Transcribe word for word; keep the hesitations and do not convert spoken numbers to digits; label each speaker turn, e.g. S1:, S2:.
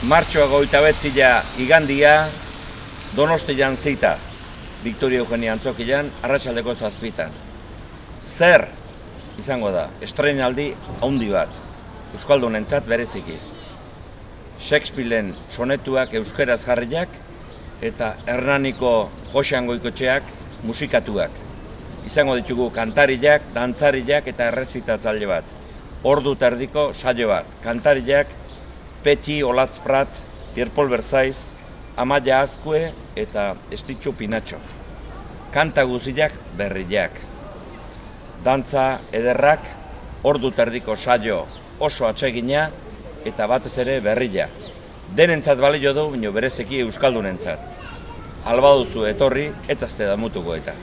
S1: martxoa goita betzila igandia, Donostian zita, Victoria Eugenia Antzokian, arratsaldeko zazpitan. Zer izango da, estreinaldi haundi bat, euskaldunentzat bereziki. Shakespearen sonetuak euskeraz jarriak eta Hernaniko Joxean Goikotxeak musikatuak. Izango ditugu kantariak, dantzariak eta errezitatzaile bat. Ordu terdiko saio bat. Kantariak Peti Olatzprat, Pierpol Berzaiz, Amaia Azkue eta Estitxu Pinatxo. Kanta guziak berriak. Dantza ederrak, ordu terdiko saio oso atsegina eta batez ere berria. Denentzat balio du, baina berezeki euskaldunentzat. Alba duzu etorri, etzazte damutuko eta.